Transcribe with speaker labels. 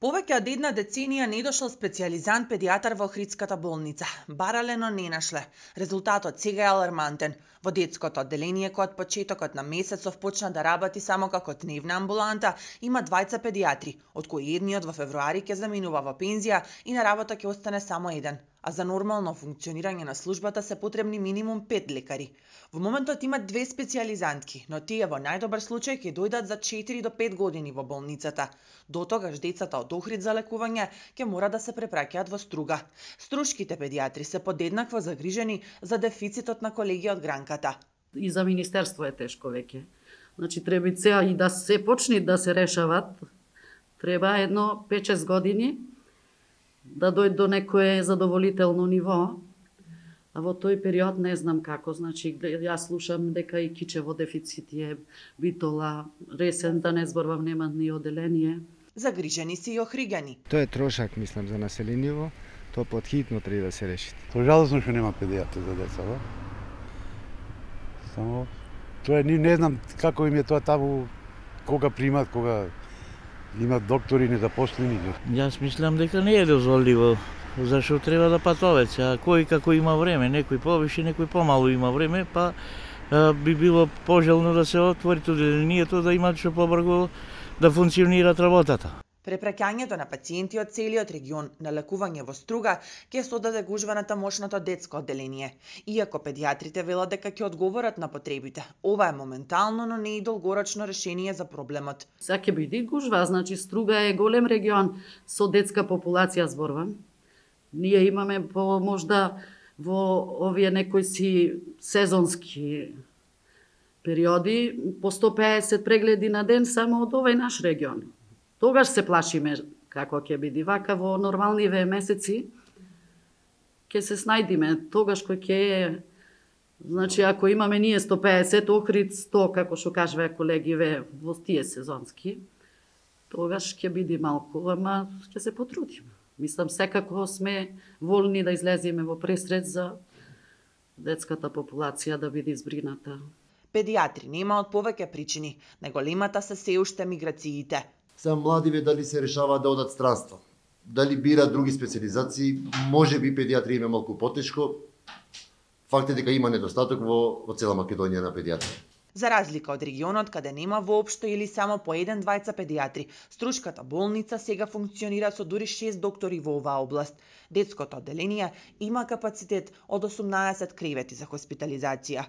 Speaker 1: Повеќе од една деценија не дошол специјализант педијатар во Охридската болница. Барале, но не нашле. Резултатот сега е алармантен. Во детското одделение, кој од почетокот на месецов почна да работи само како дневна амбуланта, има двајца педијатри, од кои едниот во февруари ќе заминува во пензија и на работа ќе остане само еден. А за нормално функционирање на службата се потребни минимум 5 лекари. Во моментот има 2 специјализантки, но тие во најдобар случај ќе дојдат за 4 до 5 години во болницата. До тогаш децата од Охрид за лекување ќе мора да се препраќаат во Струга. Струшките педијатри се подеднакво загрижени за дефицитот на колеги од гранката.
Speaker 2: И за министерство е тешко веќе. Значи треба и да се почне да се решават. Треба едно 5-6 години да дојде до некое задоволително ниво. А во тој период не знам како, значи јас слушам дека и кичево дефицит е, Битола, Ресен, да не зборувам, нема ни одделение.
Speaker 1: Загрижени си и охригани.
Speaker 3: Тоа е трошак, мислам, за населението. Тоа подхитно треба да се реши.
Speaker 4: Тоа жалосно што нема педијатри за деца, ба? Само тоа не знам како им е тоа таму, кога примат, кога имат доктори незапослени.
Speaker 5: Јас мислам дека не е дозволиво, зашто треба да патуват. А кој како има време, некој повише, некој помалу има време, па би било пожелно да се отвори одделението, да имат што побрзо да функционираат работата.
Speaker 1: Препраќањето на пациенти од целиот регион на лекување во Струга ќе содаде гужва на тамошното детско одделение. Иако педијатрите велат дека ќе одговорат на потребите, ова е моментално, но не и долгорочно решение за проблемот.
Speaker 2: Сега ќе биде гужва, значи Струга е голем регион со детска популација, зборувам. Ние имаме по можда во овие некои си сезонски периоди по 150 прегледи на ден само од овој наш регион. Тогаш се плашиме како ќе биде, вака во нормалниве месеци ќе се снајдиме. Тогаш кој ќе е, значи ако имаме ние 150, Охрид 100, како што кажува колегиве во тие сезонски, тогаш ќе биде малку, ама ќе се потрудиме. Мислам, секако сме волни да излеземе во пресред за детската популација да биде избрината.
Speaker 1: Педијатри нема од повеќе причини, најголемата се се уште миграциите.
Speaker 6: Сега младиве дали се решаваат да одат странство, дали бираат други специализации, може би педијатри има малку потешко. Факт е дека има недостаток во цела Македонија на педијатри.
Speaker 1: За разлика од регионот каде нема воопшто или само по 1-2 педијатри, Струшката болница сега функционира со дури 6 доктори во оваа област. Детското одделение има капацитет од 18 кревети за хоспитализација.